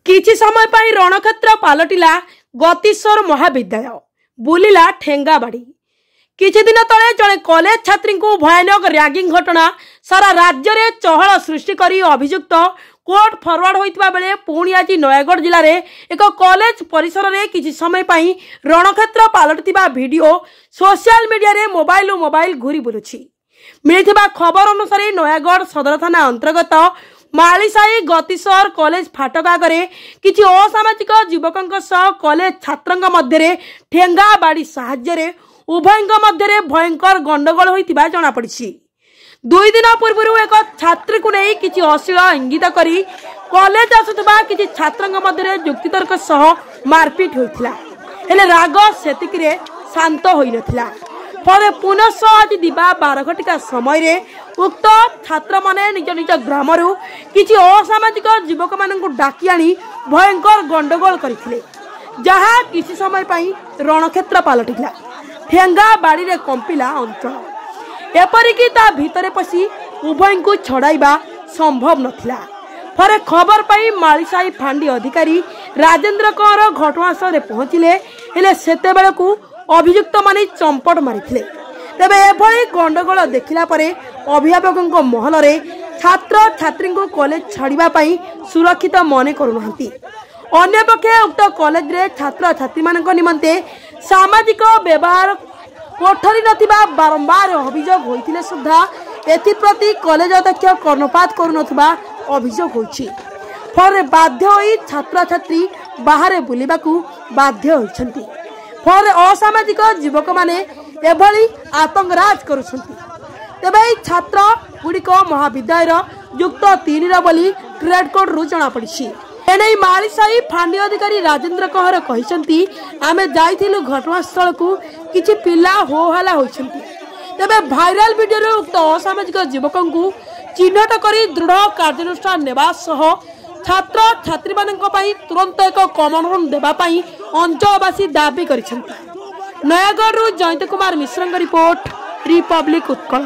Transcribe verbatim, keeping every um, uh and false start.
କିଛି ସମୟ ପାଇଁ ରଣକ୍ଷେତ୍ର ପାଲଟିଲା ଗତିଶ୍ୱର ମହାବିଦ୍ୟାଳୟ, ବୁଲିଲା ଠେଙ୍ଗାବାଡ଼ି। କିଛି ଦିନ ତଳେ ଜଣେ କଲେଜ ଛାତ୍ରୀଙ୍କୁ ଭୟାନକ ରାଗିଂ ଘଟଣା ସାରା ରାଜ୍ୟରେ ଚହଳ ସୃଷ୍ଟି କରି ଅଭିଯୁକ୍ତ କୋର୍ଟ ଫରୱାର୍ଡ ହୋଇଥିବା ବେଳେ ପୁଣି ଆଜି ନୟାଗଡ଼ ଜିଲ୍ଲାରେ ଏକ କଲେଜ ପରିସରରେ କିଛି ସମୟ ପାଇଁ ରଣକ୍ଷେତ୍ର ପାଲଟିଥିବା ଭିଡିଓ ସୋସିଆଲ ମିଡିଆରେ ମୋବାଇଲରୁ ମୋବାଇଲ ଘୁରି ବୁଲୁଛି। ମିଳିଥିବା ଖବର ଅନୁସାରେ ନୟାଗଡ଼ ସଦର ଥାନା ଅନ୍ତର୍ଗତ ମାଳିସାହି ଗତିସର କଲେଜ ଫାଟକ ଆଗରେ କିଛି ଅସାମାଜିକ ଯୁବକଙ୍କ ସହ କଲେଜ ଛାତ୍ରଙ୍କ ମଧ୍ୟରେ ଠେଙ୍ଗା ବାଡ଼ି ସାହାଯ୍ୟରେ ଉଭୟଙ୍କ ମଧ୍ୟରେ ଭୟଙ୍କର ଗଣ୍ଡଗୋଳ ହୋଇଥିବା ଜଣାପଡ଼ିଛି। ଦୁଇ ଦିନ ପୂର୍ବରୁ ଏକ ଛାତ୍ରୀକୁ ନେଇ କିଛି ଅଶ୍ଳୀଳ ଇଙ୍ଗିତ କରି କଲେଜ ଆସୁଥିବା କିଛି ଛାତ୍ରଙ୍କ ମଧ୍ୟରେ ଯୁକ୍ତିତର୍କ ସହ ମାରପିଟ ହୋଇଥିଲା। ହେଲେ ରାଗ ସେତିକିରେ ଶାନ୍ତ ହୋଇନଥିଲା। ଫଳରେ ପୁନଃ ଆଜି ଦିବା ବାର ଘଟିକା ସମୟରେ ଉକ୍ତ ଛାତ୍ରମାନେ ନିଜ ନିଜ ଗ୍ରାମରୁ କିଛି ଅସାମାଜିକ ଯୁବକମାନଙ୍କୁ ଡାକି ଆଣି ଭୟଙ୍କର ଗଣ୍ଡଗୋଳ କରିଥିଲେ, ଯାହା କିଛି ସମୟ ପାଇଁ ରଣକ୍ଷେତ୍ର ପାଲଟିଥିଲା। ଠେଙ୍ଗା ବାଡ଼ିରେ କମ୍ପିଲା ଅଞ୍ଚଳ, ଏପରିକି ତା ଭିତରେ ପଶି ଉଭୟଙ୍କୁ ଛଡ଼ାଇବା ସମ୍ଭବ ନଥିଲା। ପରେ ଖବର ପାଇ ମାଳିସାହି ଫାଣ୍ଡି ଅଧିକାରୀ ରାଜେନ୍ଦ୍ର କଅଁର ଘଟଣାସ୍ଥଳରେ ପହଞ୍ଚିଲେ। ହେଲେ ସେତେବେଳକୁ ଅଭିଯୁକ୍ତମାନେ ଚମ୍ପଟ ମାରିଥିଲେ। ତେବେ ଏଭଳି ଗଣ୍ଡଗୋଳ ଦେଖିଲା ପରେ ଅଭିଭାବକଙ୍କ ମହଲରେ ଛାତ୍ରଛାତ୍ରୀଙ୍କୁ କଲେଜ ଛାଡ଼ିବା ପାଇଁ ସୁରକ୍ଷିତ ମନେ କରୁନାହାନ୍ତି। ଅନ୍ୟପକ୍ଷେ ଉକ୍ତ କଲେଜରେ ଛାତ୍ରଛାତ୍ରୀମାନଙ୍କ ନିମନ୍ତେ ସାମାଜିକ ବ୍ୟବହାର କୋଠରୀ ନଥିବା ବାରମ୍ବାର ଅଭିଯୋଗ ହୋଇଥିଲେ ସୁଦ୍ଧା ଏଥିପ୍ରତି କଲେଜ ଅଧ୍ୟକ୍ଷ କର୍ଣ୍ଣପାତ କରୁନଥିବା ଅଭିଯୋଗ ହୋଇଛି। ଫଳରେ ବାଧ୍ୟ ହୋଇ ଛାତ୍ରଛାତ୍ରୀ ବାହାରେ ବୁଲିବାକୁ ବାଧ୍ୟ ହୋଇଛନ୍ତି। ଫଳରେ ଅସାମାଜିକ ଯୁବକମାନେ ଏଭଳି ଆତଙ୍କରାଜ କରୁଛନ୍ତି। ତେବେ ଏହି ଛାତ୍ର ଗୁଡ଼ିକ ମହାବିଦ୍ୟାଳୟର ଯୁକ୍ତ ତିନିର ବୋଲି ଟ୍ରେଡ୍ କୋର୍ଟରୁ ଜଣାପଡ଼ିଛି। ଏନେଇ ମାଳିସାହି ଫାଣ୍ଡି ଅଧିକାରୀ ରାଜେନ୍ଦ୍ର କହର କହିଛନ୍ତି, ଆମେ ଯାଇଥିଲୁ ଘଟଣାସ୍ଥଳକୁ, କିଛି ପିଲା ହୋ ହାଲା ହୋଇଛନ୍ତି। ତେବେ ଭାଇରାଲ ଭିଡିଓରୁ ଉକ୍ତ ଅସାମାଜିକ ଯୁବକଙ୍କୁ ଚିହ୍ନଟ କରି ଦୃଢ଼ କାର୍ଯ୍ୟାନୁଷ୍ଠାନ ନେବା ସହ ଛାତ୍ରଛାତ୍ରୀମାନଙ୍କ ପାଇଁ ତୁରନ୍ତ ଏକ କମନ ରୁମ୍ ଦେବା ପାଇଁ ଅଞ୍ଚଳବାସୀ ଦାବି କରିଛନ୍ତି। ନୟାଗଡ଼ରୁ ଜୟନ୍ତ କୁମାର ମିଶ୍ରଙ୍କ ରିପୋର୍ଟ, ରିପବ୍ଲିକ ଉତ୍କଳ।